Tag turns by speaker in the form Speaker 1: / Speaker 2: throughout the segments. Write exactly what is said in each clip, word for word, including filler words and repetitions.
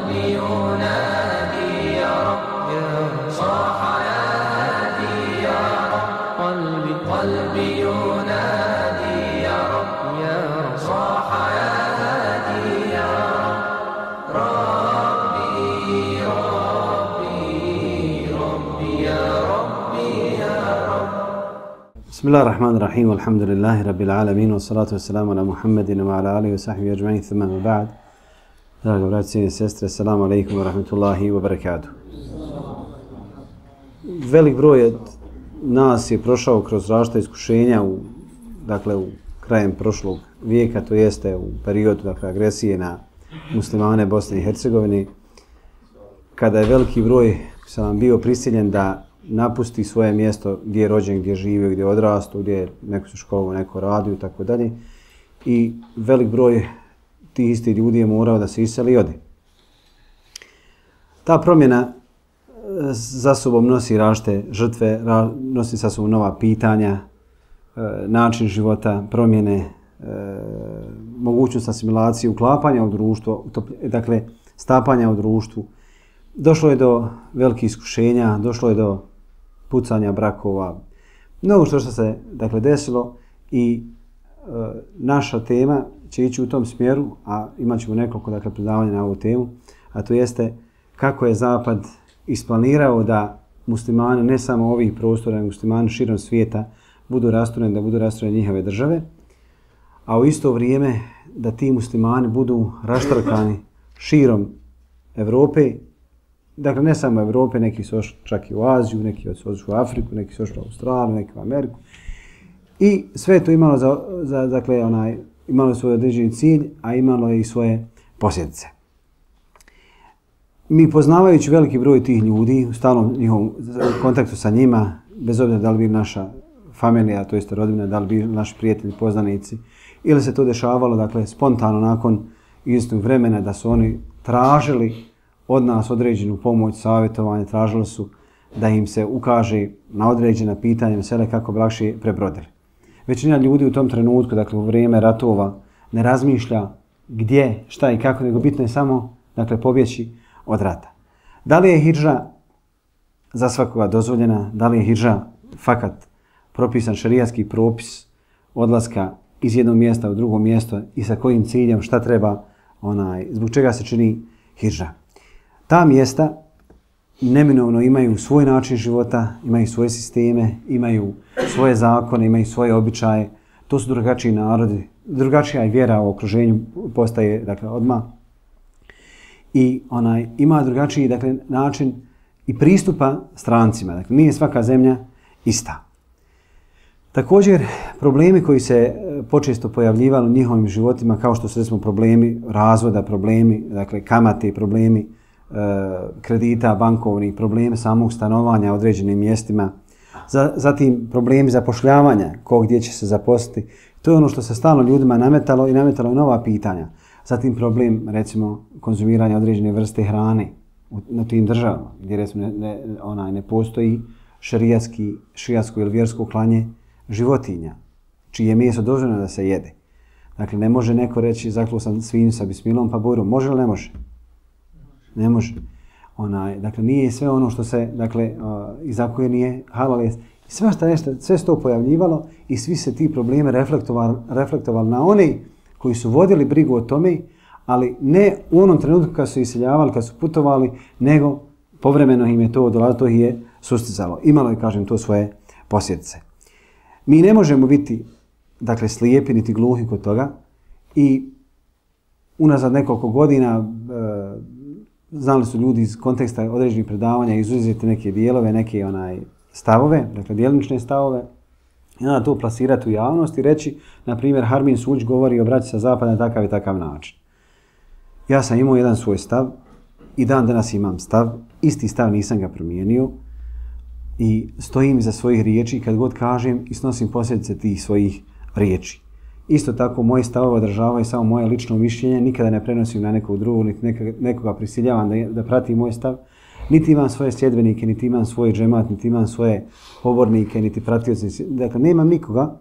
Speaker 1: قلبي ينادي يا رب صاح يا هادي يا رب قلبي قلبي ينادي يا رب يا رب صاح يا هادي يا رب ربي ربي ربي يا ربي يا رب.
Speaker 2: بسم الله الرحمن الرحيم والحمد لله رب العالمين والصلاة والسلام على محمد وعلى آله وصحبه أجمعين ثم ما بعد. Draga braći i sestre, assalamu alaikum wa rahmatullahi wa barakatuh. Velik broj od nas je prošao kroz različita iskušenja u, dakle, u krajem prošlog vijeka, to jeste u periodu, dakle, agresije na muslimane Bosne i Hercegovine, kada je veliki broj sam bio prisiljen da napusti svoje mjesto gdje je rođen, gdje je živio, gdje je odrastao, gdje je neko se školovao, neko radio i tako dalje. I velik broj tih istih ljudi je morao da se iseli i ode. Ta promjena za sobom nosi različite žrtve, nosi sa sobom nova pitanja, način života, promjene, mogućnost asimilacije, uklapanja u društvo, dakle stapanja u društvu. Došlo je do velikih iskušenja, došlo je do pucanja brakova, mnogo što se dakle desilo i e, naša tema će ići u tom smjeru, a imat ćemo nekoliko dakle, predavanja na ovu temu, a to jeste kako je Zapad isplanirao da muslimani, ne samo ovih prostora, nego muslimani širom svijeta, budu rastureni, da budu rastureni njihove države, a u isto vrijeme da ti muslimani budu raštrkani širom Evrope. Dakle, ne samo u Evrope, neki su ošli čak i u Aziju, neki su ošli u Afriku, neki su ošli u Australiju, neki u Ameriku. I sve to imalo za, za dakle, onaj, imalo svoj određeni cilj, a imalo je i svoje posljedice. Mi poznavajući veliki broj tih ljudi, u stalnom njihovom kontaktu sa njima, bez obzira da li bi naša familija, to jest rodbina, da li bi naši prijatelji, poznanici, ili se to dešavalo, dakle, spontano nakon istog vremena da su oni tražili od nas određenu pomoć, savjetovanje, tražili su da im se ukaže na određena pitanja mesele kako bi lakše prebrodili. Većina ljudi u tom trenutku, dakle u vrijeme ratova, ne razmišlja gdje, šta i kako, nego bitno je samo dakle, pobjeći od rata. Da li je hidža za svakoga dozvoljena, da li je hidža fakat propisan šerijatski propis odlaska iz jednog mjesta u drugo mjesto i sa kojim ciljem, šta treba, onaj, zbog čega se čini hidža. Ta mjesta neminovno imaju svoj način života, imaju svoje sisteme, imaju svoje zakone, imaju svoje običaje. To su drugačiji narodi, drugačija vjera u okruženju postaje dakle, odmah. I onaj, ima drugačiji dakle, način i pristupa strancima. Dakle, nije svaka zemlja ista. Također, problemi koji se počesto pojavljivali u njihovim životima, kao što su recimo problemi razvoda, problemi dakle, kamate, problemi kredita, bankovnih, probleme samog stanovanja u određenim mjestima, zatim problemi zapošljavanja, ko gdje će se zaposliti. To je ono što se stalno ljudima nametalo i nametalo i nova pitanja. Zatim problem, recimo, konzumiranja određene vrste hrane na tim državama, gdje recimo ne, ne, onaj, ne postoji šerijatski, šerijatsko ili vjersko klanje životinja, čije meso dozvoljeno da se jede. Dakle, ne može neko reći zakluo sam svinju sa bismilom pa burom. Može li ne može? Ne može. Onaj, dakle, nije sve ono što se, dakle, uh, iza koje nije halal jest. Sve što nešto, sve se to pojavljivalo i svi se ti problemi reflektovali, reflektovali na oni koji su vodili brigu o tome, ali ne u onom trenutku kad su iseljavali, kad su putovali, nego povremeno im je to dolazilo, to ih je sustizalo. Imalo je, kažem, to svoje posljedice. Mi ne možemo biti, dakle, slijepi niti gluhi kod toga i unazad nekoliko godina uh, znali su ljudi iz konteksta određenih predavanja izuzeti neke dijelove, neke onaj stavove, dakle djelimične stavove, i onda to plasirati u javnost i reći, na primjer, Harmin Suđ govori o braći sa zapada na takav i takav način. Ja sam imao jedan svoj stav i dan danas imam stav, isti stav nisam ga promijenio i stojim iza svojih riječi kad god kažem i snosim posljedice tih svojih riječi. Isto tako, moji stavove održavaju samo moje lično mišljenje, nikada ne prenosim na nekog drugog, niti nekoga prisiljavam da, da prati moj stav. Niti imam svoje sljedbenike, niti imam svoj džemat, niti imam svoje pobornike, niti pratioce. Dakle, nemam nikoga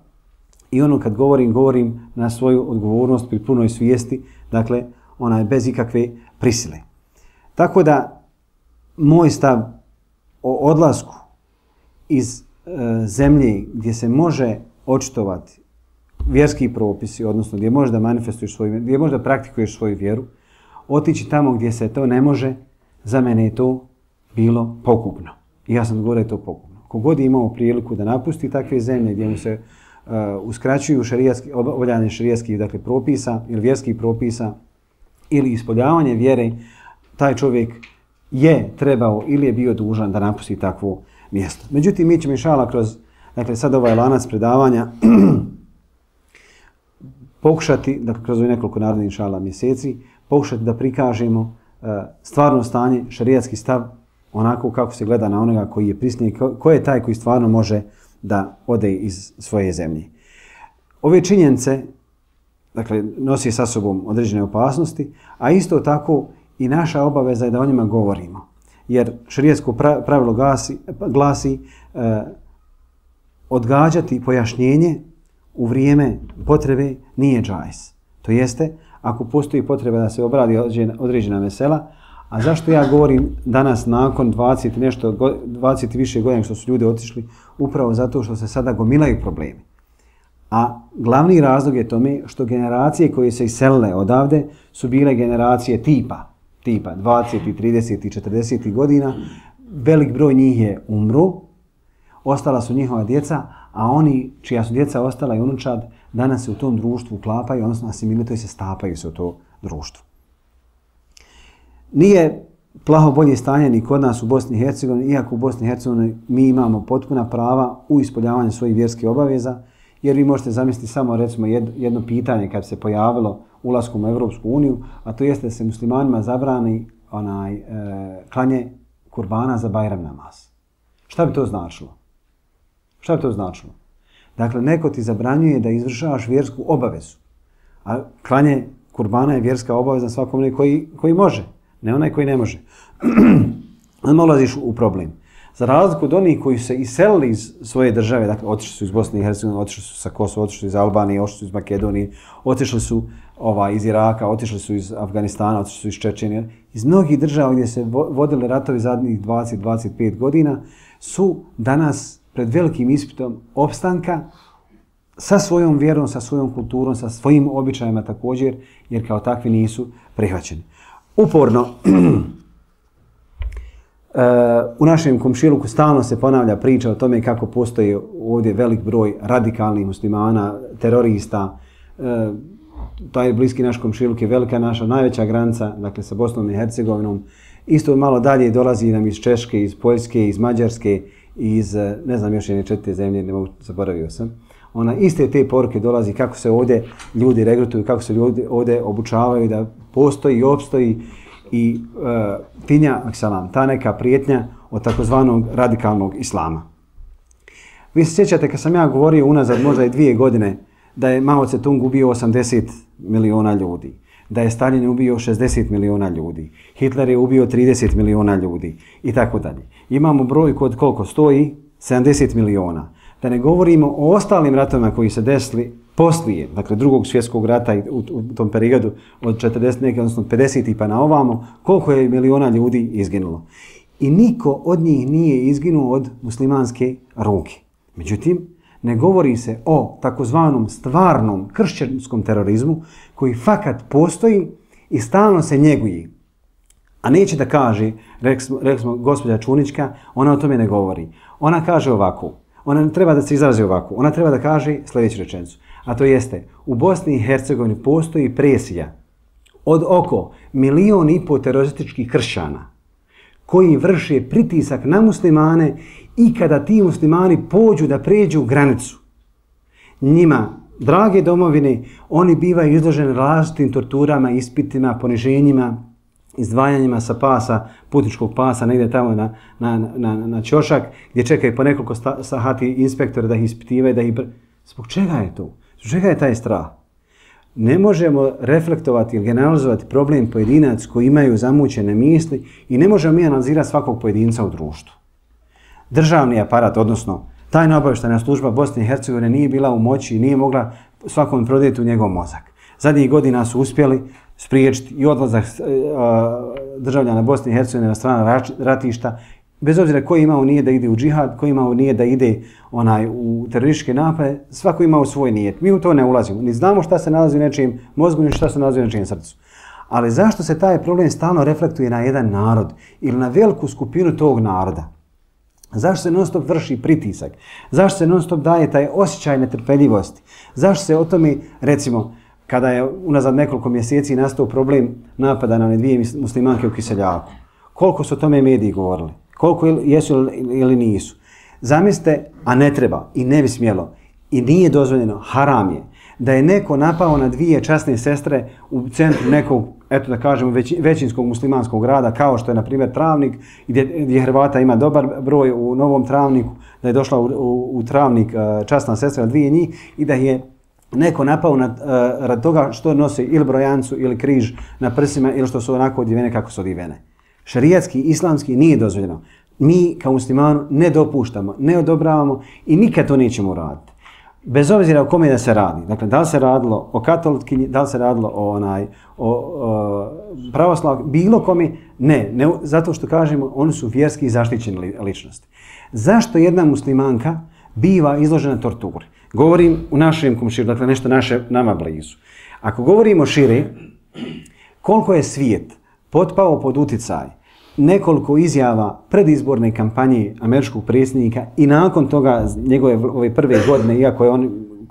Speaker 2: i ono kad govorim, govorim na svoju odgovornost pri punoj svijesti, dakle, ona je bez ikakve prisile. Tako da moj stav o odlasku iz e, zemlje gdje se može očitovati vjerski propisi, odnosno gdje možeš da manifestuješ svoju vjeru, gdje možeš da praktikuješ svoju vjeru, otići tamo gdje se to ne može, za mene je to bilo pogubno. I ja sam govorio da je to pogubno. Kogod je imao priliku da napusti takve zemlje gdje mu se uh, uskraćuju šerijatski, obavljanje šerijatskih dakle, propisa ili vjerskih propisa ili ispoljavanje vjere, taj čovjek je trebao ili je bio dužan da napusti takvo mjesto. Međutim, mi ćemo inšala kroz, dakle sad ovaj lanac predavanja pokušati, dakle kroz ovih nekoliko narednih inšala mjeseci, pokušati da prikažemo uh, stvarno stanje, šerijatski stav, onako kako se gleda na onoga koji je prisniji, ko, ko je taj koji stvarno može da ode iz svoje zemlje. Ove činjenice, dakle, nosi sa sobom određene opasnosti, a isto tako i naša obaveza je da o njima govorimo. Jer šerijatsko pravilo glasi, glasi eh, odgađati pojašnjenje u vrijeme potrebe nije džajz. To jeste, ako postoji potreba da se obradi određena mesela, a zašto ja govorim danas nakon dvadeset nešto, dvadeset više godina što su ljudi otišli, upravo zato što se sada gomilaju problemi. A glavni razlog je tome što generacije koje se iselile odavde su bile generacije tipa, tipa dvadeset, trideset i četrdeset godina. Velik broj njih je umro, ostala su njihova djeca, a oni čija su djeca ostala i unučad danas se u tom društvu uklapaju, odnosno asimilituju se, stapaju se u to društvo. Nije plaho bolje stanje ni kod nas u Bosni i Hercegovini, iako u Bosni i Hercegovini mi imamo potpuna prava u ispoljavanju svojih vjerskih obaveza, jer vi možete zamisliti samo recimo jedno pitanje kad se pojavilo ulaskom u Evropsku uniju, a to jeste da se muslimanima zabrani onaj, e, klanje kurbana za Bajram namaz. Šta bi to značilo? Šta bi to značilo? Dakle, neko ti zabranjuje da izvršavaš vjersku obavezu, a klanje kurbana je vjerska obaveza svakom koji, koji može, ne onaj koji ne može. Onda ulaziš u problem. Za razliku od onih koji se iselili iz svoje države, dakle, otišli su iz Bosne i Hercegovine, otišli su sa Kosova, otišli su iz Albanije, otišli su iz Makedonije, otišli su ovaj, iz Iraka, otišli su iz Afganistana, otišli su iz Čečenije. Iz mnogih država gdje se vodili ratovi zadnjih dvadeset do dvadeset pet godina su danas pred velikim ispitom opstanka sa svojom vjerom, sa svojom kulturom, sa svojim običajima također, jer kao takvi nisu prihvaćeni. Uporno u našem komšiluku stalno se ponavlja priča o tome kako postoji ovdje velik broj radikalnih muslimana, terorista. Taj bliski naš komšiluk je velika naša najveća granica, dakle sa Bosnom i Hercegovinom. Isto malo dalje dolazi nam iz Češke, iz Poljske, iz Mađarske, iz, ne znam, još jedne četiri zemlje, ne mogu, zaboravio sam. Ona iste te poruke dolazi kako se ovdje ljudi regrutuju, kako se ljudi ovdje obučavaju da postoji i opstoji i uh, tinja, aksalam, ta neka prijetnja od takozvanog radikalnog islama. Vi se sjećate kad sam ja govorio unazad možda i dvije godine da je Mao Tse-tung ubio osamdeset miliona ljudi, da je Stalin ubio šezdeset miliona ljudi, Hitler je ubio trideset miliona ljudi i tako dalje. Imamo brojku od koliko stoji? sedamdeset miliona. Da ne govorimo o ostalim ratovima koji se desili poslije, dakle drugog svjetskog rata u, u tom periodu od četrdeset neke, odnosno pedeset pa na ovamo, koliko je miliona ljudi izginulo. I niko od njih nije izginuo od muslimanske ruke. Međutim, ne govori se o takozvanom stvarnom kršćanskom terorizmu koji fakat postoji i stalno se njeguje. A neće da kaže, rekli smo gospođa Čunićka, ona o tome ne govori. Ona kaže ovako, ona treba da se izrazi ovako, ona treba da kaže sljedeću rečenicu. A to jeste, u Bosni i Hercegovini postoji presija od oko milion i po terorističkih kršćana koji vrše pritisak na muslimane i kada ti muslimani pođu da pređu granicu. Njima, drage domovine, oni bivaju izloženi različitim torturama, ispitima, poniženjima, izdvajanjima sa pasa, putničkog pasa, negdje tamo na, na, na, na ćošak, gdje čekaju po nekoliko sahati inspektora da ih ispitivaju, da ih... Zbog čega je to? Zbog čega je taj strah? Ne možemo reflektovati ili generalizovati problem pojedinac koji imaju zamućene misli i ne možemo mi analizirati svakog pojedinca u društvu. Državni aparat, odnosno tajna obavještajna služba Bosne i Hercegovine nije bila u moći i nije mogla svakom prodjeti u njegov mozak. Zadnjih godina su uspjeli spriječiti i odlazak državljana Bosne i Hercegovine na strana ratišta, bez obzira koji imao nije da ide u džihad, koji imao nije da ide onaj u terorističke napade, svako imao svoj nijet. Mi u to ne ulazimo. Ni znamo šta se nalazi u nečijem mozgu, ni šta se nalazi u nečijem srcu. Ali zašto se taj problem stalno reflektuje na jedan narod ili na veliku skupinu tog naroda? Zašto se non stop vrši pritisak? Zašto se non stop daje taj osjećaj netrpeljivosti? Zašto se o tome, recimo, kada je unazad nekoliko mjeseci nastao problem napada na one dvije muslimanke u Kiseljaku, koliko su o tome mediji govorili? Koliko jesu ili nisu? Zamislite, a ne treba i ne bi smjelo i nije dozvoljeno, haram je, da je neko napao na dvije časne sestre u centru nekog, eto da kažemo, već, većinskog muslimanskog grada, kao što je, na primjer, Travnik, gdje, gdje Hrvata ima dobar broj u Novom Travniku, da je došla u, u, u Travnik časna sestra, dvije njih, i da je neko napao na, uh, rad toga što nose ili brojancu ili križ na prsima ili što su onako odjevene kako su odjevene. Šerijatski, islamski nije dozvoljeno. Mi kao muslimanu ne dopuštamo, ne odobravamo i nikad to nećemo uraditi. Bez obzira o kome da se radi. Dakle, da li se radilo o katolitkinji, da li se radilo o, onaj, o, o pravoslav, bilo kome, ne, ne. Zato što kažemo, oni su vjerski zaštićene ličnosti. Zašto jedna muslimanka biva izložena torturi? Govorim u našem komširu, dakle nešto naše, nama blizu. Ako govorimo šire, koliko je svijet potpao pod uticaj nekoliko izjava predizborne kampanje američkog predsjednika i nakon toga njegove ove prve godine, iako je on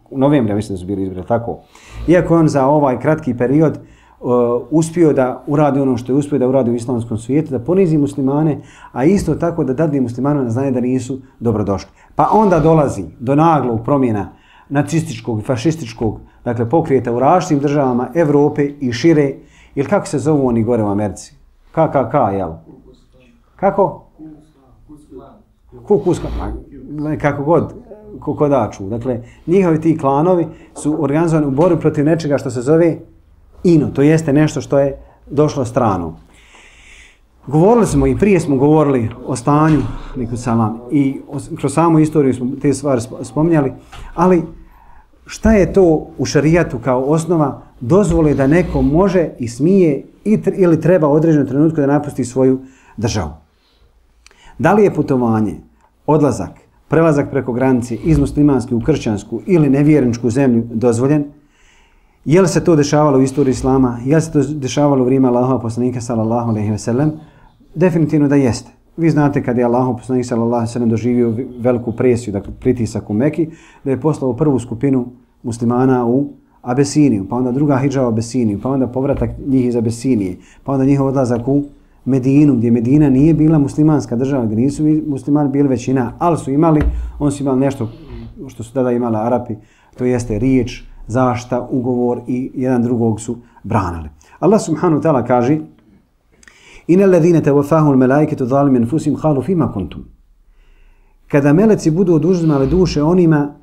Speaker 2: u novembru, mislim da su bili izbori, tako, iako je on za ovaj kratki period uh, uspio da uradi ono što je uspio da uradi u islamskom svijetu, da ponizi muslimane, a isto tako da dadne muslimane na znanje da nisu dobrodošli. Pa onda dolazi do naglog promjena nacističkog i fašističkog, dakle, pokrijeta u različitim državama Evrope i šire, ili kako se zovu oni gore u Americi? K K K, jel? Kako? Ku Klux Klan. Kako god, kokodaču. Dakle, njihovi ti klanovi su organizovani u borbi protiv nečega što se zove ino. To jeste nešto što je došlo strano. Govorili smo i prije smo govorili o stanju salam, i kroz samu istoriju smo te stvari spominjali, ali šta je to u šarijatu kao osnova dozvoli da neko može i smije i ili treba u određenom trenutku da napusti svoju državu? Da li je putovanje, odlazak, prelazak preko granice iz muslimanske u kršćansku ili nevjerničku zemlju dozvoljen? Je li se to dešavalo u istoriji islama? Je li se to dešavalo u vrijeme Allahova poslanika sallallahu alejhi ve sellem? Definitivno da jeste. Vi znate kad je Allahov poslanik sallallahu alejhi ve sellem doživio veliku presiju, dakle pritisak u Meki, da je poslao prvu skupinu muslimana u Abesiniju, pa onda druga hidža u Abesiniju, pa onda povratak njih iz Abesinije, pa onda njihov odlazak u Medinu, gdje Medina nije bila muslimanska država, gdje nisu muslimani bili većina, ali su imali, oni su imali nešto što su tada imali Arapi, to jeste riječ, zašta, ugovor i jedan drugog su branili. Allah subhanahu wa ta'ala kaže: Inna alladhina tawaffahum al-malaikatu zalimi anfusihim qalu fima kuntum. Kada meleci budu oduzimali duše onima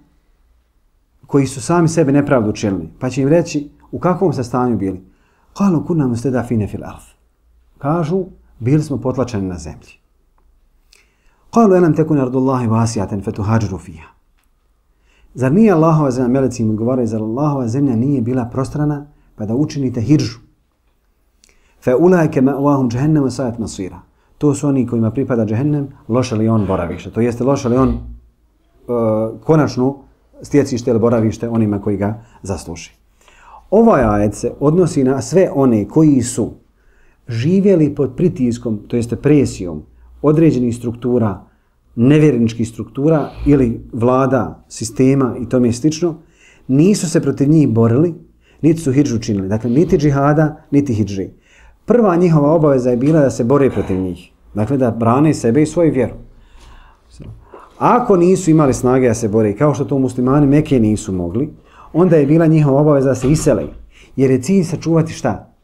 Speaker 2: koji su sami sebe nepravdu učinili, pa će im reći u kakvom se stanju bili. Qalu kunna mustadafina fil ard. Kažu, bili smo potlačeni na zemlji. Qalu alam takun ardullahi wasi'atan fatuhajiru fiha. Zar nije Allahova zemlja, meleci im odgovaraju, zar Allahova zemlja nije bila prostrana pa da učinite hidžu? Fa ulaika ma'wahum jahannam wa sa'at masira. To su oni kojima pripada džehennem, loše li on boravište. To jeste loše li on uh, konačno stjecište ili boravište onima koji ga zasluži. Ovaj ajet se odnosi na sve one koji su živjeli pod pritiskom, to jeste presijom određenih struktura, nevjerničkih struktura ili vlada, sistema i tome slično, nisu se protiv njih borili, niti su hidžu činili. Dakle, niti džihada, niti hidži. Prva njihova obaveza je bila da se bore protiv njih. Dakle, da brane sebe i svoju vjeru. Ako nisu imali snage da se bore, kao što to muslimani Mekke nisu mogli, onda je bila njihova obaveza da se isele. Jer je cilj sačuvati šta?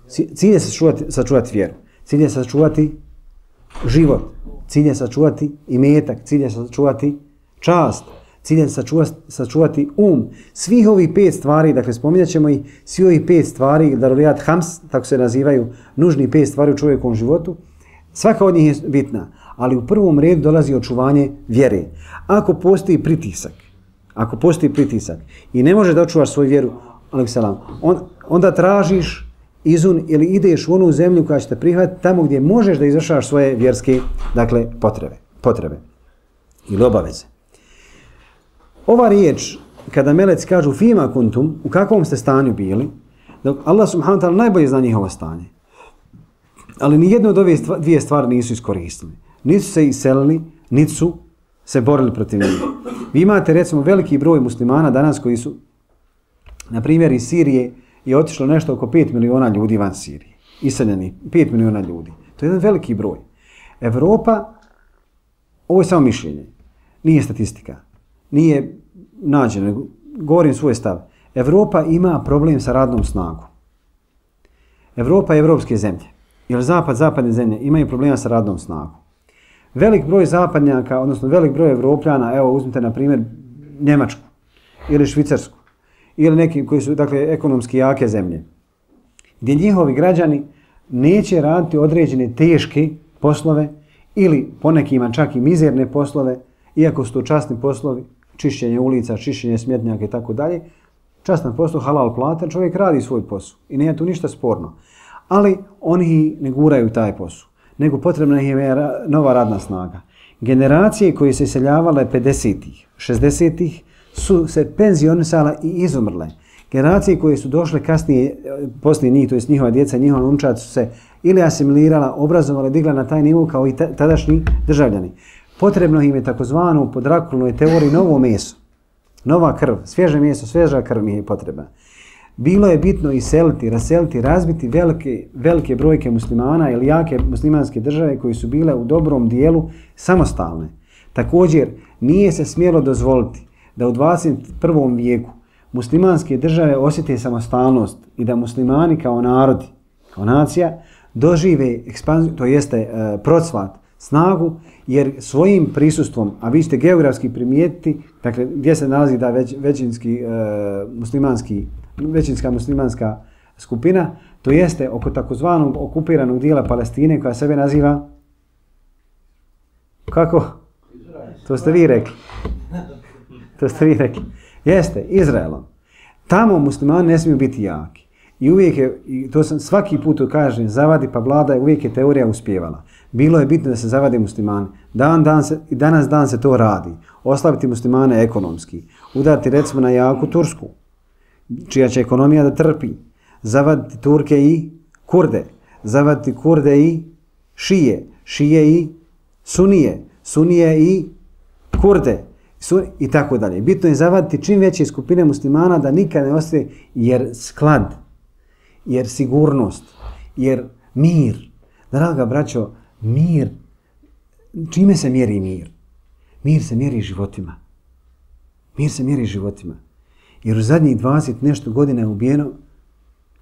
Speaker 2: Cilj je sačuvati, sačuvati vjeru. Cilj je sačuvati život. Cilj je sačuvati imetak. Cilj je sačuvati čast. Cilj je sačuvati, sačuvati um. Svih ovih pet stvari, dakle spominjat ćemo i svi ovih pet stvari, darurijat hams, tako se nazivaju, nužni pet stvari u čovjekovom životu, svaka od njih je bitna. Ali u prvom redu dolazi očuvanje vjere. Ako postoji pritisak, ako postoji pritisak i ne može da očuvaš svoju vjeru, on, onda tražiš izun ili ideš u onu zemlju koja će te prihvatiti tamo gdje možeš da izvršavaš svoje vjerske, dakle, potrebe, potrebe ili obaveze. Ova riječ, kada meleci kažu fima kuntum, u kakvom ste stanju bili, dok Allah subhanahu wa ta'ala najbolje zna njihovo stanje. Ali ni jedno od ove dvije stvari nisu iskoristili. Niti su se iselili, niti su se borili protiv njih. Vi imate recimo veliki broj muslimana danas koji su, na primjer iz Sirije, je otišlo nešto oko pet miliona ljudi van Sirije. Iseljeni, pet miliona ljudi. To je jedan veliki broj. Evropa, ovo je samo mišljenje, nije statistika, nije nađeno, govorim svoj stav. Evropa ima problem sa radnom snagom. Evropa i evropske zemlje, jer zapad, zapadne zemlje imaju problema sa radnom snagom. Velik broj zapadnjaka, odnosno velik broj Evropljana, evo uzmite na primjer Njemačku ili Švicarsku, ili neki koji su, dakle, ekonomski jake zemlje, gdje njihovi građani neće raditi određene teške poslove ili ponekima čak i mizerne poslove, iako su to časni poslovi, čišćenje ulica, čišćenje smjetnjaka i tako dalje, častan posao, halal plata, čovjek radi svoj posao i nije tu ništa sporno. Ali oni ne guraju taj posao, nego potrebna je nova radna snaga. Generacije koje se iseljavale pedesetih, šezdesetih su se penzionisale i izumrle. Generacije koje su došle kasnije, poslije njih, to jest njihova djeca, njihova unčad su se ili asimilirala, obrazovale, digla na taj nivo kao i tadašnji državljani. Potrebno im je takozvano po Drakulinoj teoriji novo meso, nova krv, svježe meso, svježa krv mi je potrebna. Bilo je bitno iseliti, raseliti, razbiti velike, velike brojke muslimana ili jake muslimanske države koji su bile u dobrom dijelu samostalne. Također, nije se smjelo dozvoliti da u dvadeset prvom vijeku muslimanske države osjete samostalnost i da muslimani kao narodi, kao nacija, dožive ekspanziju, to jeste e, procvat, snagu, jer svojim prisustvom, a vi ćete geografski primijetiti, dakle, gdje se nalazi da već, većinski e, muslimanski većinska muslimanska skupina, to jeste oko takozvanog okupiranog dijela Palestine koja sebe naziva kako? To ste vi rekli. To ste vi rekli. Jeste, Izraelom. Tamo muslimani ne smiju biti jaki. I uvijek je, i to sam svaki put kažem, zavadi pa vlada, uvijek je teorija uspjevala. Bilo je bitno da se zavade muslimani. Dan, dan se, i danas dan se to radi. Oslabiti muslimane ekonomski. Udarti recimo na jaku Tursku, čija će ekonomija da trpi, zavaditi Turke i Kurde, zavaditi Kurde i Šije, Šije i Sunije, Sunije i Kurde sun, i tako dalje. Bitno je zavaditi čim veće skupine muslimana da nikad ne ostaje, jer sklad, jer sigurnost, jer mir. Draga braćo, mir, čime se mjeri mir? Mir se mjeri životima. Mir se mjeri životima. Jer u zadnjih dvadeset nešto godina je ubijeno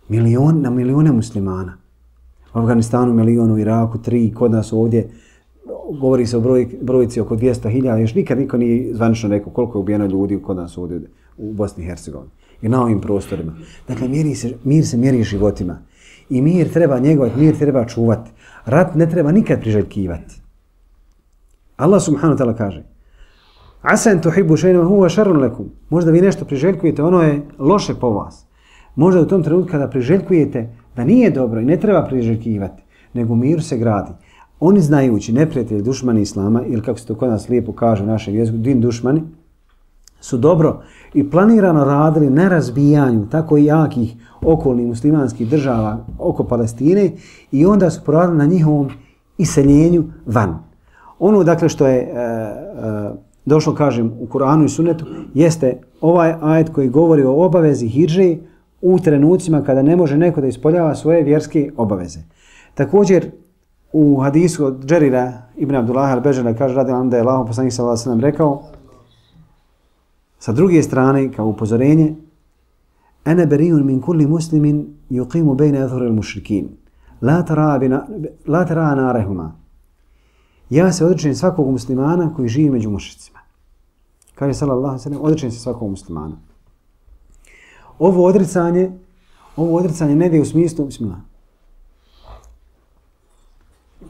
Speaker 2: milion, na milijone muslimana. U Afganistanu milion, u Iraku tri, kod nas ovdje govori se o broj, brojici oko dvjesto hiljada, još nikad niko nije zvanično rekao koliko je ubijeno ljudi kod nas ovdje u Bosni i Hercegovini i na ovim prostorima. Dakle, mjeri se, mir se mjeri životima i mir treba njegovati, mir treba čuvati. Rat ne treba nikad priželjkivati. Allah subhanahu wa ta'ala kaže: Asan tuhibbu shay'an huwa sharrun lakum. Možda vi nešto priželjkujete, ono je loše po vas. Možda u tom trenutku kada priželjkujete da nije dobro i ne treba priželjkivati, nego mir se gradi. Oni znajući, neprijatelji, dušmani Islama, ili kako se to kod nas lijepo kaže u našem jeziku, din dušmani, su dobro i planirano radili na razbijanju tako i jakih okolnih muslimanskih država oko Palestine i onda su poradili na njihovom iseljenju van. Ono, dakle, što je e, e, došlo, kažem, u Kur'anu i Sunnetu, jeste ovaj ajet koji govori o obavezi hidže u trenucima kada ne može neko da ispoljava svoje vjerske obaveze. Također, u hadisu od Džerira ibn Abdullaha al-Bežana kaže radi nam da je Allahov poslanik sallallahu alejhi ve sellem rekao sa druge strane kao upozorenje: Ana bari'un min kulli muslimin yuqimu bayna adhhuri al-mushrikin la tara bina la tara narahuma. Ja se odričem svakog muslimana koji živi među mušricima. Kaže sallallahu alejhi ve sellem, odričem se svakog muslimana. Ovo odricanje, ovo odricanje ne ide u smislu bismillah,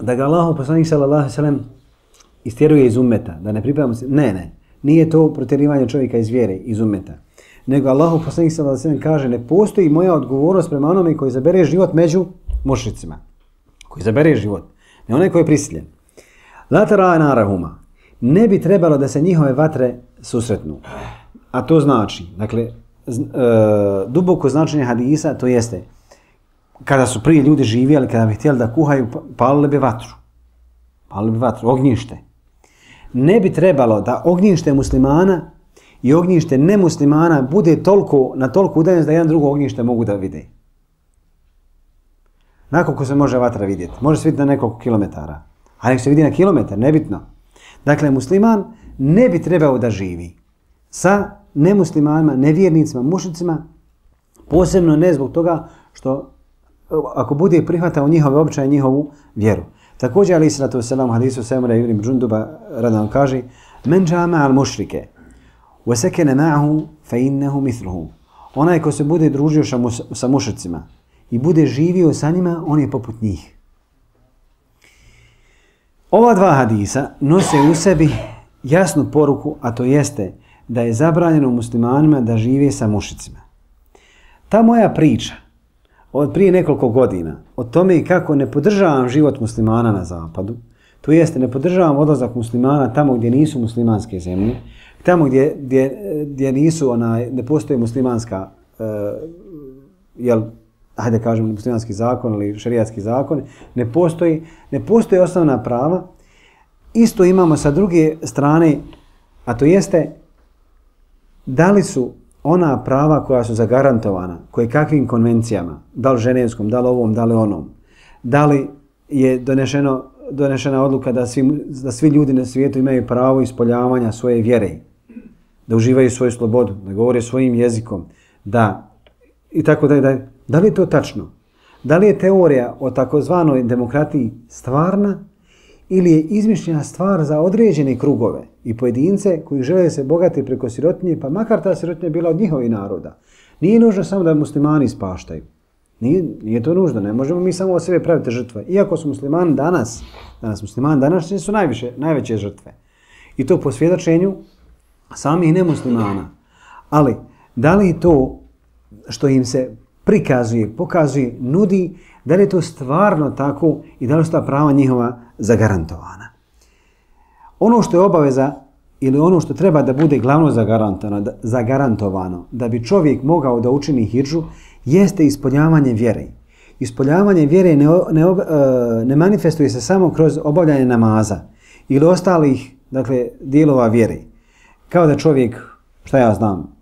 Speaker 2: da ga Allahov poslanik sallallahu alejhi ve sellem istjeruje iz ummeta, da ne pripada muslim. Ne, ne. Nije to protjerivanje čovjeka iz vjere, iz ummeta. nego Allahov poslanik sallallahu alejhi ve sellem kaže ne postoji moja odgovornost prema onome koji zabere život među mušricima. Koji zabere život, ne onaj koji je prisiljen. La tara narahuma. Ne bi trebalo da se njihove vatre susretnu. A to znači, dakle, z, e, duboko značenje hadisa, to jeste, kada su prije ljudi živjeli, kada bi htjeli da kuhaju, palili bi vatru. Palili bi vatru, ognjište. Ne bi trebalo da ognjište muslimana i ognjište nemuslimana bude toliko, na toliko udaljenost da jedan drugo ognjište mogu da vide. Nakoliko se može vatra vidjeti? Može se vidjeti na nekoliko kilometara. A nek se vidi na kilometar, nebitno. Dakle, musliman ne bi trebao da živi sa nemuslimanima, nevjernicima, mušicima, posebno ne zbog toga što ako bude prihvatao njihove običaje, njihovu vjeru. Također, ali sallatu wasalam, hadisu Samura ibn Džunduba radom kaže men džama al mušrike wa sekene ma'ahu fa innehu mithluhu. Onaj ko se bude družio sa mušicima i bude živio sa njima, on je poput njih. Ova dva hadisa nose u sebi jasnu poruku, a to jeste da je zabranjeno muslimanima da žive sa mušicima. Ta moja priča od prije nekoliko godina o tome kako ne podržavam život muslimana na zapadu, to jeste ne podržavam odlazak muslimana tamo gdje nisu muslimanske zemlje, tamo gdje, gdje, gdje nisu onaj, ne postoji muslimanska uh, jel, hajde kažem muslimanski zakon ili šerijatski zakon, ne postoji, ne postoji osnovna prava. Isto imamo sa druge strane, a to jeste da li su ona prava koja su zagarantovana, koje kakvim konvencijama, da li ženevskom, da li ovom, da li onom, da li je donešeno, donešena odluka da svi, da svi ljudi na svijetu imaju pravo ispoljavanja svoje vjere, da uživaju svoju slobodu, da govore svojim jezikom, da i tako da, da da li je to tačno? Da li je teorija o takozvanoj demokratiji stvarna ili je izmišljena stvar za određene krugove i pojedince koji žele se bogati preko sirotinje, pa makar ta sirotinja bila od njihovih naroda. Nije nužno samo da muslimani ispaštaju. Nije, nije to nužno, ne možemo mi samo od sebe praviti žrtve. Iako su muslimani danas, danas muslimani današnji su najviše, najveće žrtve. I to po svjedočenju samih nemuslimana. Ali, da li to što im se prikazuje, pokazuje, nudi, da li je to stvarno tako i da li su ta prava njihova zagarantovana. Ono što je obaveza ili ono što treba da bude glavno zagarantovano, da, zagarantovano da bi čovjek mogao da učini hidžu, jeste ispoljavanje vjere. Ispoljavanje vjere ne, ne, ne manifestuje se samo kroz obavljanje namaza ili ostalih, dakle, dijelova vjere. Kao da čovjek, šta ja znam,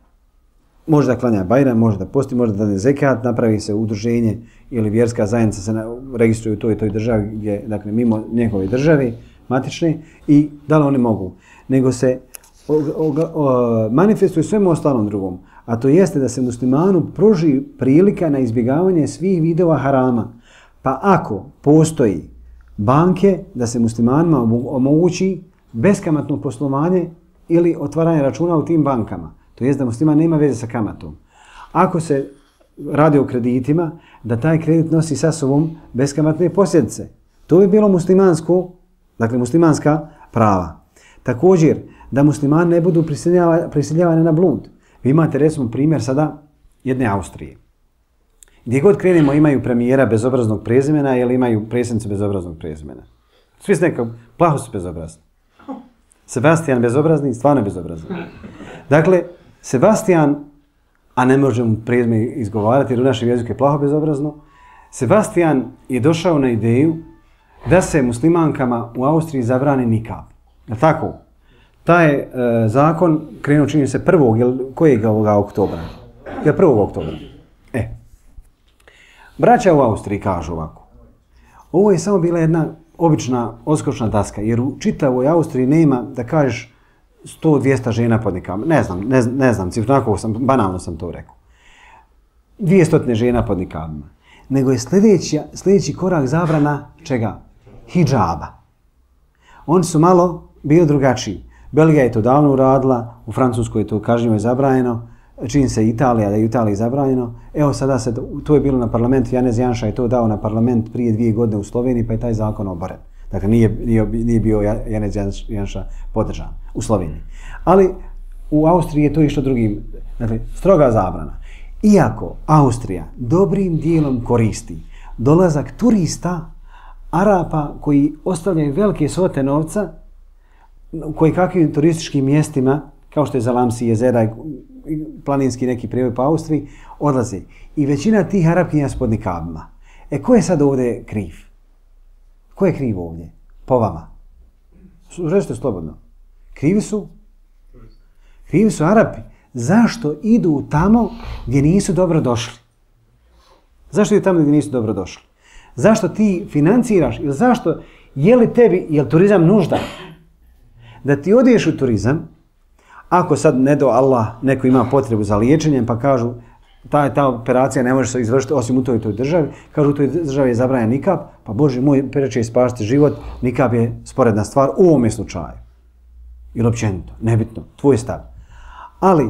Speaker 2: može da klanja bajram, može da posti, može da dane zekat, napravi se udruženje ili vjerska zajednica se registruje u toj i toj državi, gdje, dakle, mimo njegove države matične, i da li oni mogu. Nego se o, o, o, manifestuje svemu ostalom drugom, a to jeste da se muslimanu pruži prilika na izbjegavanje svih vidova harama. Pa ako postoji banke, da se muslimanima omogući beskamatno poslovanje ili otvaranje računa u tim bankama. To jest da musliman nema veze sa kamatom. Ako se radi o kreditima, da taj kredit nosi sa sobom beskamatne posljedice. To bi bilo muslimansko, dakle muslimanska prava. Također, da muslimani ne budu prisiljavani na blud. Vi imate recimo primjer sada jedne Austrije. Gdje god krenemo imaju premijera bezobraznog prezimena ili imaju predsjednicu bezobraznog prezimena. Svi su nekako, plaho su bezobrazni. Sebastian bezobrazni, stvarno bezobrazni. Dakle, Sebastian, a ne možemo prezime izgovarati jer u našem jeziku je plaho bezobrazno, Sebastian je došao na ideju da se muslimankama u Austriji zabrani nikab. Je tako? Taj e, zakon krenuo čini se prvog, jel, kojeg ovoga oktobra? Jel prvog oktobra? E. Braća u Austriji kažu ovako. Ovo je samo bila jedna obična odskočna daska, jer u čitavoj Austriji nema, da kažeš, sto dvjesto žena pod nikabom. Ne znam, ne, ne znam, cifrako sam, banalno sam to rekao. dvjesto žena pod nikabima. Nego je sljedeći, sljedeći korak zabrana čega? Hidžaba. Oni su malo bili drugačiji. Belgija je to davno uradila, u Francuskoj je to kažnjivo je zabranjeno, čini se Italija, da je u Italiji zabranjeno. Evo sada se, to je bilo na parlamentu, Janez Janša je to dao na parlament prije dvije godine u Sloveniji, pa je taj zakon oboren. Dakle, nije, nije, nije bio Janez Janša podržan u Sloveniji. Ali u Austriji je to išlo drugim, dakle, stroga zabrana. Iako Austrija dobrim dijelom koristi dolazak turista, Arapa koji ostavljaju velike svote novca u koji kakvim turističkim mjestima, kao što je Zalamsi, jezera i planinski neki prijevoj po Austriji, odlaze. I većina tih Arapkinja s podnikabima. E, ko je sad ovdje kriv? Ko je kriv ovdje? Po vama. Rećete slobodno. Krivi su? Krivi su Arapi. Zašto idu tamo gdje nisu dobro došli? Zašto idu tamo gdje nisu dobro došli? Zašto ti financiraš? Ili zašto, je li tebi, je li turizam nužda? Da ti odiješ u turizam, ako sad ne do Allah neko ima potrebu za liječenjem, pa kažu ta, ta operacija ne može se izvršiti osim u toj toj državi, kažu u toj državi je zabranjen nikab, pa Bože moj, preče je spasiti život, nikab je sporedna stvar u ovome slučaju. Ili općenito, nebitno, tvoj stav. Ali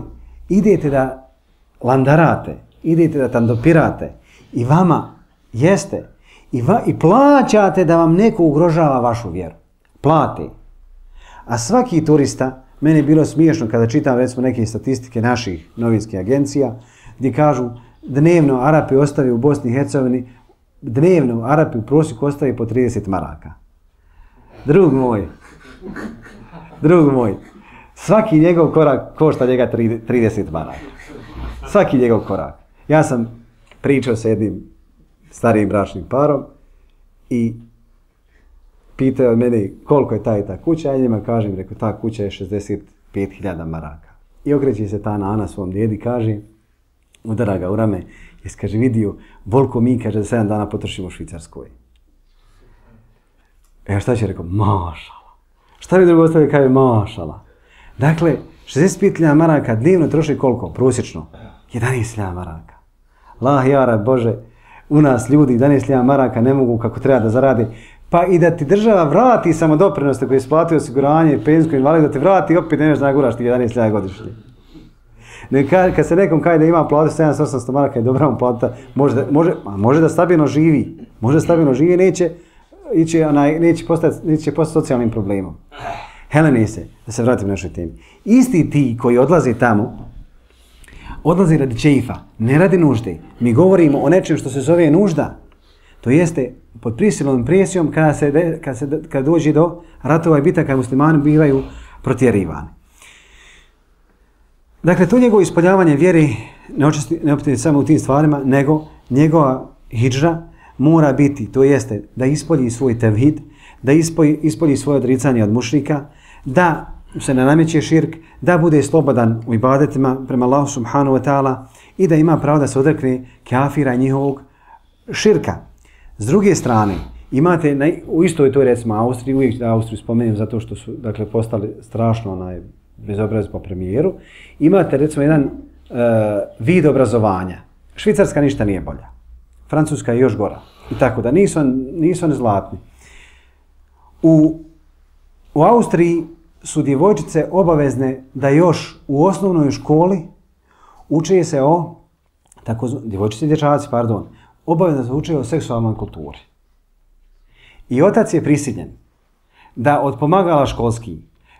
Speaker 2: idete da landarate, idete da tandopirate i vama jeste i, va, i plaćate da vam neko ugrožava vašu vjeru. Plate. A svaki turista, meni je bilo smiješno kada čitam recimo neke statistike naših novinskih agencija, gdje kažu dnevno Arapi ostavi u Bosni i Hercegovini, dnevno Arapi u prosjeku ostavi po trideset maraka. Drug moj, drug moj, svaki njegov korak košta njega trideset maraka. Svaki njegov korak. Ja sam pričao sa jednim starijim bračnim parom i pitao mene koliko je ta i ta kuća, ja njima kažem, rekao, ta kuća je šezdeset pet hiljada maraka. I okreće se ta Nana svom djedi, kaže, udara ga u rame, jes, kaže, vidio, volko mi, kaže, da sedam dana potrošimo u Švicarskoj. E, šta će, rekao, mašala. Šta bi drugo ostavio, kaže, mašala. Dakle, šezdeset pet hiljada maraka dnevno troši koliko? Prosječno? jedanaest hiljada maraka. Allah, jara, Bože, u nas ljudi jedanaest hiljada maraka ne mogu kako treba da zaradi. Pa i da ti država vrati samodoprinoste koje je isplatio osiguranje, penzijsko invalid, da ti vrati, opet ne možeš da naguraš ti jedanaest hiljada godišnje. Ne, kad, kad se nekom kaže da ima platu sedamsto osamsto maraka i dobra mu plata, može da, može, može da stabilno živi. Može da stabilno živi, neće, neće, onaj, neće, postati, neće postati socijalnim problemom. Helenise, da se vratim našoj temi. Isti ti koji odlaze tamo, odlaze radi čeifa, ne radi nužde. Mi govorimo o nečem što se zove nužda. To jeste pod prisilnom presijom kada, se, kada, se, kada dođe do ratova i bitaka, muslimani bivaju protjerivani. Dakle, to njegovo ispoljavanje vjeri ne očisti, ne opet samo u tim stvarima, nego njegova hidžra mora biti, to jeste da ispolji svoj tevhid, da ispolji, ispolji svoje odricanje od mušrika, da se ne nameće širk, da bude slobodan u ibadetima prema Allahu subhanahu wa ta'ala i da ima pravo da se odrekne kafira i njihovog širka. S druge strane, imate na, u istoj toj recimo Austriji, uvijek da Austriju spomenem zato što su dakle, postali strašno onaj, bezobrazni po premijeru, imate recimo jedan uh, vid obrazovanja. Švicarska ništa nije bolja. Francuska je još gora. I tako da nisu, nisu oni zlatni. U, u Austriji su djevojčice obavezne da još u osnovnoj školi uče se o, tako, djevojčice i dječaci, pardon, obavezno se uče o seksualnoj kulturi. I otac je prisiljen da od pomagala školski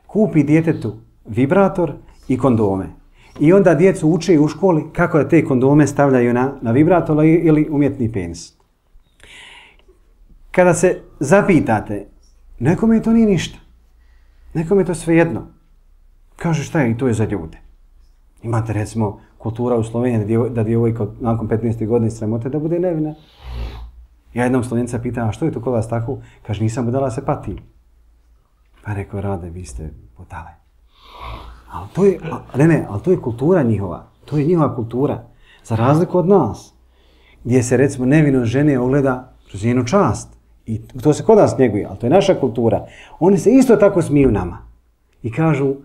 Speaker 2: kupi djetetu vibrator i kondome. I onda djecu uče u školi kako da te kondome stavljaju na, na vibrator ili umjetni penis. Kada se zapitate, nekome to nije ništa. Nekome je to svejedno. Kaže šta je i to je za ljude. Imate recimo kultura u Sloveniji da djevojka nakon petnaeste godine sramote da bude nevina. Ja jednog Slovenca pitam, a što je to kod vas tako? Kaže, nisam budala, se patim. Pa rekao, Rade, vi ste budale. Ali to je, a, ne, ne, ali to je kultura njihova. To je njihova kultura. Za razliku od nas. Gdje se recimo nevino žene ogleda kroz njenu čast. I to se kod nas njeguje, ali to je naša kultura. Oni se isto tako smiju nama. I kažu,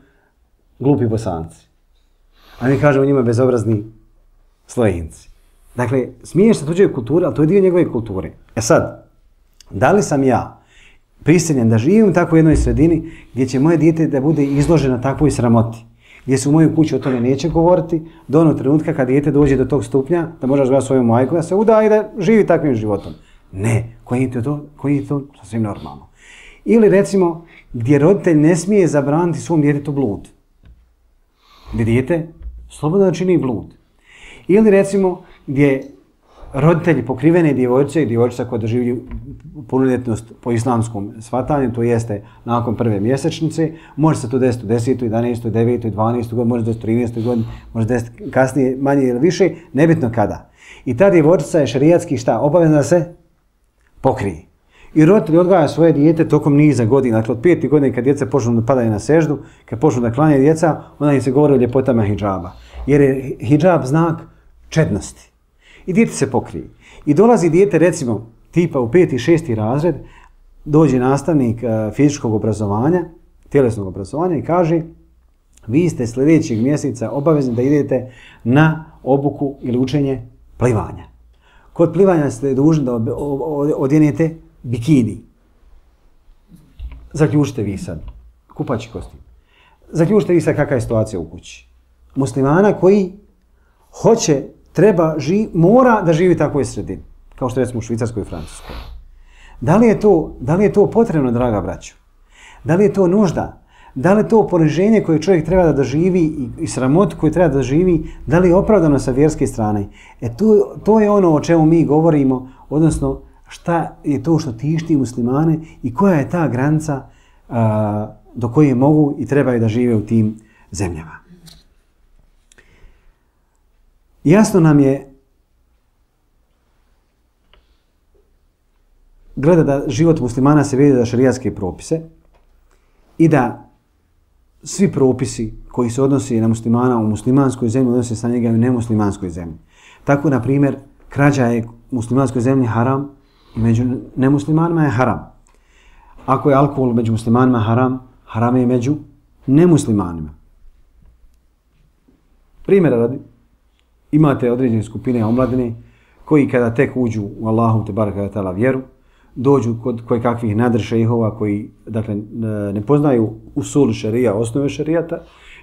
Speaker 2: glupi Bosanci. A mi kažemo njima bezobrazni Slovenci. Dakle, smiješ se tuđe kulture, ali to je dio njegove kulture. E sad, da li sam ja prisiljen da živim u takvoj jednoj sredini gdje će moje dijete da bude izloženo takvoj sramoti, gdje se u mojoj kući o tome neće govoriti, do onog trenutka kad dijete dođe do tog stupnja, da može razvijati svoju majku, da se uda i da živi takvim životom. Ne, koji je to, koji je to sasvim normalno. Ili recimo, gdje roditelj ne smije zabraniti svom djetetu blud. gdje dijete slobodno čini blud. Ili recimo gdje roditelji pokrivene djevojčice i djevojčica koja doživlju punoljetnost po islamskom shvatanju, to jeste nakon prve mjesečnice, može se to desiti u desetoj, jedanaestoj, devetoj, dvanaestoj godini, može se desiti u trinaestoj godini, može se desiti kasnije manje ili više, nebitno kada. I ta djevojčica je šerijatski šta? Obavezna da se pokrije. I roditelji odgajaju svoje dijete tokom niza godina, dakle od peti godine kad djeca počnu da padaju na seždu, kad počnu da klanjaju djeca, onda im se govori o ljepotama hidžaba. Jer je hidžab znak čednosti. I dijete se pokrije. I dolazi dijete, recimo, tipa u peti, šesti razred, dođe nastavnik uh, fizičkog obrazovanja, tjelesnog obrazovanja i kaže vi ste sljedećeg mjeseca obavezni da idete na obuku ili učenje plivanja. Kod plivanja ste dužni da odjenete bikini. Zaključite vi sad. Kupaći kostim. Zaključite vi sad kakva je situacija u kući. Muslimana koji hoće, treba, ži, mora da živi u takvoj sredini. Kao što recimo u Švicarskoj i Francuskoj. Da li je to, da li je to potrebno, draga braćo? Da li je to nužda? Da li je to poniženje koje čovjek treba da doživi i, i sramot koju treba da doživi, da li je opravdano sa vjerske strane? E to, to je ono o čemu mi govorimo, odnosno šta je to što tišti muslimane i koja je ta granica a, do koje mogu i trebaju da žive u tim zemljama. Jasno nam je gleda da život muslimana se vidi za šerijatske propise i da svi propisi koji se odnosi na muslimana u muslimanskoj zemlji odnose sa njega i u nemuslimanskoj zemlji. Tako, na primjer, krađa je u muslimanskoj zemlji haram i među nemuslimanima je haram. Ako je alkohol među muslimanima haram, haram je među nemuslimanima. Primjera radi, imate određene skupine omladine koji kada tek uđu u Allahu te baraka ve taala vjeru, dođu kod koje kakvih nadršejhova koji dakle ne poznaju usul šerija, osnove šerijata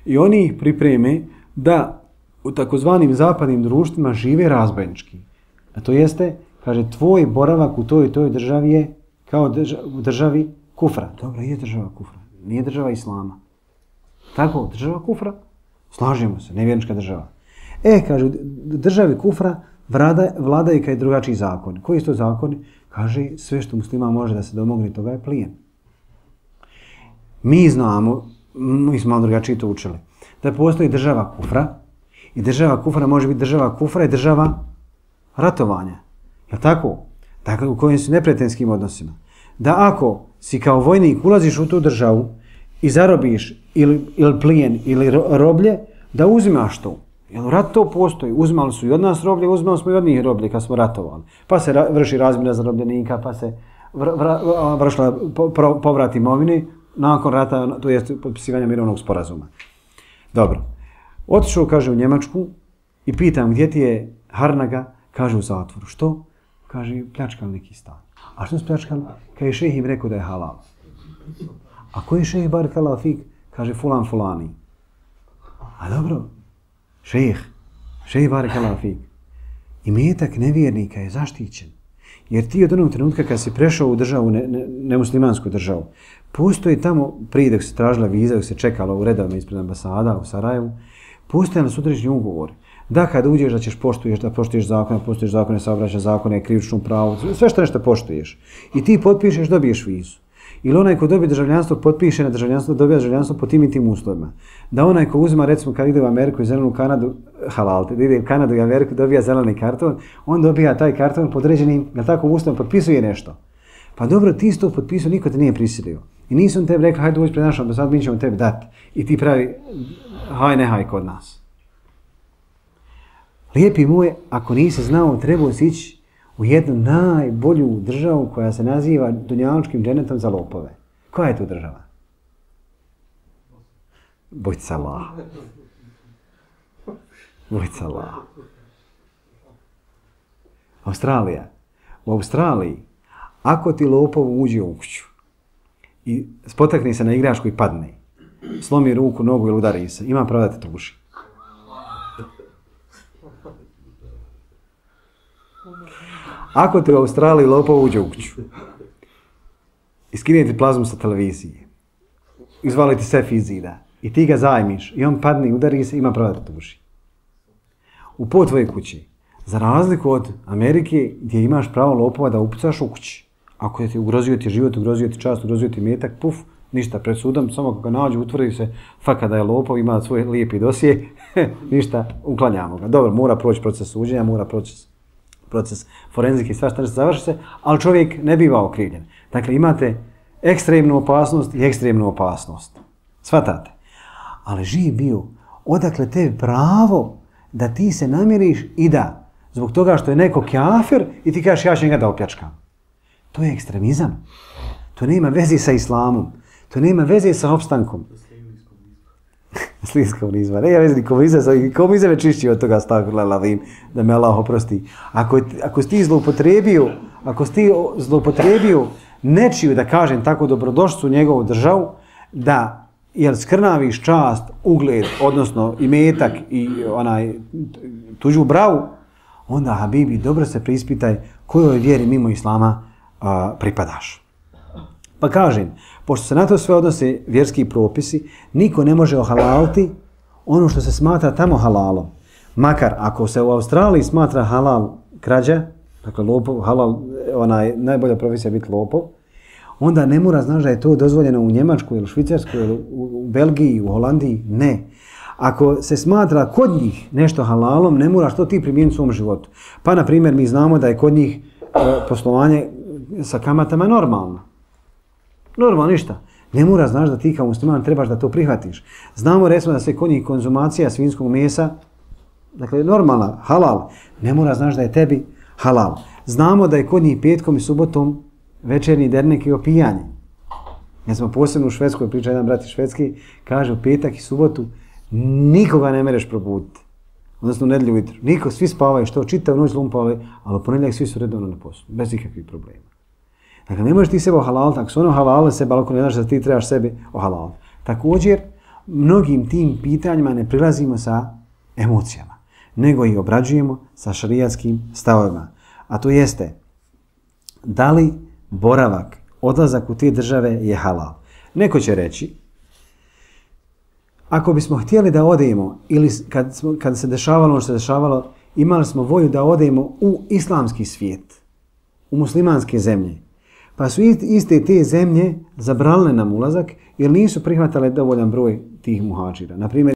Speaker 2: i oni ih pripreme da u takozvanim zapadnim društvima žive razbojnički. A to jeste, kaže, tvoj boravak u toj i toj državi je kao drža, u državi kufra. Dobro, je država kufra, nije država islama. Tako, država kufra, slažemo se, nevjernička država. E, kaže, u državi kufra vlada, vladaju kaj drugačiji zakoni. Koji su to zakoni? Kaže, sve što muslima može da se domogne toga je plijen. Mi znamo, mi smo malo drugačije to učili, da postoji država kufra i država kufra može biti država kufra i država ratovanja. Je tako? Dakle, u kojim su neprijateljskim odnosima. Da ako si kao vojnik ulaziš u tu državu i zarobiš ili, ili plijen ili roblje, da uzimaš to. Jer rat to postoji. Uzimali su i od nas roblje, uzimali smo i od njih roblje kad smo ratovali. Pa se ra vrši razmjena zarobljenika, pa se vr vr vršila po povrat imovine nakon rata, to je potpisivanje mirovnog sporazuma. Dobro. Otišao, kaže, u Njemačku i pitam gdje ti je Harnaga, kaže u zatvoru. Što? Kaže, pljačkali neki stan. A što su pljačkali? Kaže, šejh im rekao da je halal. A koji je šejh barakallahu fik? Kaže, fulan fulani. A dobro. Šejh, šejh barakallahu fik. Imetak nevjernika je zaštićen. Jer ti od onog trenutka kad si prešao u državu, ne, ne, nemuslimansku državu, postoji tamo, prije dok se tražila viza, dok se čekalo u redovima ispred ambasada u Sarajevu, postoje na sudređenju ugovori. Da kad uđeš da ćeš poštuješ, da poštuješ zakone, poštuješ zakone, saobraćaja zakone, krivično pravo, sve što nešto poštuješ. I ti potpišeš, dobiješ vizu. Ili onaj ko dobije državljanstvo, potpiše na državljanstvo, dobija državljanstvo po tim i tim uslovima. Da onaj ko uzima, recimo, kad ide u Ameriku i zelenu Kanadu, halal, da ide u Kanadu i Ameriku, dobija zeleni karton, on dobija taj karton podređenim, na tako uslovom, potpisuje nešto. Pa dobro, ti si to potpisao, niko te nije prisilio. I nisu on tebi rekli, hajde uđi pred naš ambasad, mi ćemo tebi dati. I ti pravi, haj ne haj kod nas. Lijepi moj, ako nisi znao, trebao si ići u jednu najbolju državu koja se naziva dunjalučkim dženetom za lopove. Koja je to država? Bojca Allah. Bojca Allah. Australija. U Australiji, ako ti lopov uđe u kuću i spotakne se na igračku i padne, slomi ruku, nogu ili udari se, ima pravo da te tuži. Ako te u Australiji lopov uđe u kuću, iskinete plazmu sa televizije, izvalite sef iz zida i ti ga zajmiš i on padne, udari se, ima pravo da te tuži. U po tvojoj kući. Za razliku od Amerike gdje imaš pravo lopova da upucaš u kući. Ako je ti ugrozio ti život, ugrozio ti čast, ugrozio ti metak, puf, ništa, pred sudom, samo kako ga nađu, utvrdi se faka da je lopov, ima svoj lijepi dosije, ništa, uklanjamo ga. Dobro, mora proći proces suđenja, mora proći proces forenzike i svašta nešto završi se, ali čovjek ne biva okrivljen. Dakle, imate ekstremnu opasnost i ekstremnu opasnost. Svatate. Ali živ bio, odakle te pravo da ti se namiriš i da, zbog toga što je neko kafir i ti kažeš ja ću njega da opljačkam. To je ekstremizam. To nema veze sa islamom. To nema veze sa opstankom. Slijed komunizma. Nema veze ni komunizam. Komunizam je čišći od toga stavila lavim, da me Allah oprosti. Ako, ako si ti zloupotrebio, ako si ti zloupotrebio nečiju, da kažem tako, dobrodošću u njegovu državu, da jel skrnaviš čast, ugled, odnosno imetak i onaj tuđu bravu, onda, habibi, dobro se preispitaj kojoj vjeri mimo islama a, pripadaš. Pa kažem, pošto se na to sve odnose vjerski propisi, niko ne može ohalaliti ono što se smatra tamo halalom. Makar ako se u Australiji smatra halal krađa, dakle lopov, halal, onaj, najbolja profesija biti lopov, onda ne mora znaš da je to dozvoljeno u Njemačkoj ili Švicarskoj ili u Belgiji, u Holandiji, ne. Ako se smatra kod njih nešto halalom, ne moraš to ti primijeniti u svom životu. Pa, na primjer, mi znamo da je kod njih e, poslovanje sa kamatama normalno. Normalno, ništa. Ne mora znaš da ti kao musliman trebaš da to prihvatiš. Znamo, recimo, da se kod njih konzumacija svinjskog mesa, dakle, normalna, halal, ne mora znaš da je tebi halal. Znamo da je kod njih petkom i subotom večernji dernek i opijanje. Ja smo posebno u Švedskoj, priča jedan brat iz Švedski, kaže u petak i subotu nikoga ne mereš probuditi. Odnosno u nedjelju ujutro. Niko, svi spavaju, što čitav noć lumpali, ali u ponedjeljak svi su redovno na poslu, bez ikakvih problema. Dakle, ne možeš ti sebe ohalaliti, ako su ono halalile sebe, ali ako ne znaš da ti trebaš sebe ohalaliti. Također, mnogim tim pitanjima ne prilazimo sa emocijama, nego ih obrađujemo sa šarijatskim stavovima. A to jeste, da li boravak, odlazak u te države je halal. Neko će reći, ako bismo htjeli da odemo, ili kad, smo, kad se dešavalo ono što se dešavalo, imali smo volju da odemo u islamski svijet, u muslimanske zemlje, pa su iste te zemlje zabranile nam ulazak jer nisu prihvatale dovoljan broj tih muhađira. Naprimjer,